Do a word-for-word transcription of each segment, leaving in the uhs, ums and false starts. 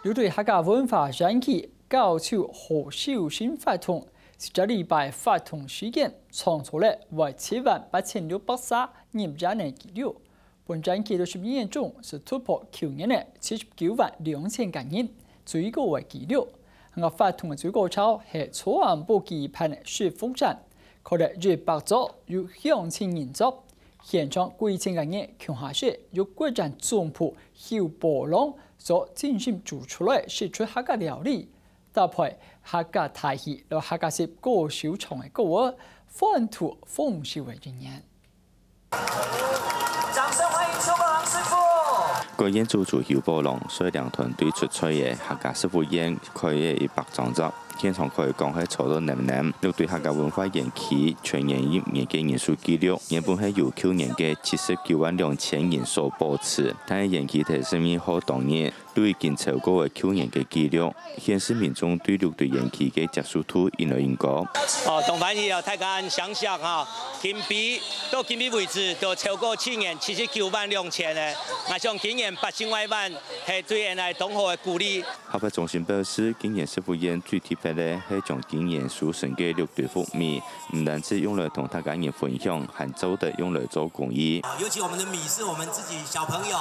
有對客家文化園區搞出好手新活動，十隻禮拜活動時間，創造了為七萬八千六百儕入園个紀錄。本園區六十二年中，係突破舊年个七十九萬兩千个人，最高个紀錄。客家活動个最高潮係昨暗晡舉辦个食福展，開了一百桌，有鄉親人桌， 現場幾千个人共下食由國展總部侯寶龍所精心煮出來个四川客家料理，搭配客家大戲摎客家式歌手唱个歌仔，歡度豐收个一年。掌聲歡迎邱寶龍師傅。國宴主廚侯寶龍率領團隊出菜个客家食福宴開了一百張桌， 現場可以講係坐到淰淰，錄對客家文化園區全園入園个人數紀錄，原本係由舊年个七十九萬兩千人所保持，但係園區在十二月當日，都已經超過了舊年个紀錄，顯示民眾對六堆園區个接受度越來越高。哦，當歡喜哦，大家恁想想哈，今晡，到今晡為止，都超過去年七十九萬兩千个，𠊎想今年八千外萬，係對𠊎來當好个鼓勵。 客發中心表示，今年食福宴最特別个係將今年收成个六堆福米，毋單止用來同大家人分享，還做得用來做公益。尤其我們的米是我們自己小朋友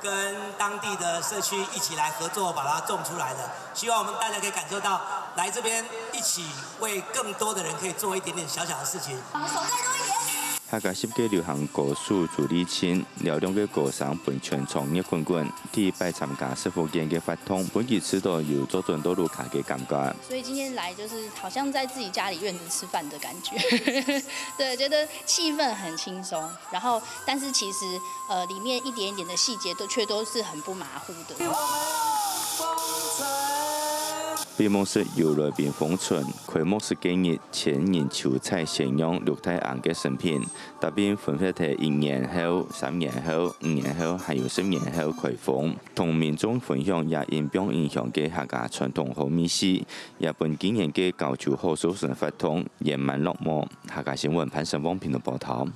跟當地的社區一起來合作把它種出來的，希望我們大家可以感受到來這邊一起為更多的人可以做一點點小小的事情。我們手再多一點。 客家十大流行歌手朱麗青，嘹亮个歌聲分全場熱滾滾。第一擺參加食福宴个活動，分佢試著有做轉到屋下个感覺。所以今天來就是好像在自己家裡院子吃飯的感覺。對，覺得氣氛很輕鬆，然後但是其實呃裡面一點一點的細節都卻都是很不馬虎的。 閉幕式由來賓封存，開幕式該日千人球賽宣揚六大行个新品，答辯分別係一年後、三年後、五年後，還有十年後開封，同民眾分享這印象深刻个客家傳統好味緒，也分今年个搞出好收成活動圓滿落幕。客家新聞潘生旺屏東報導。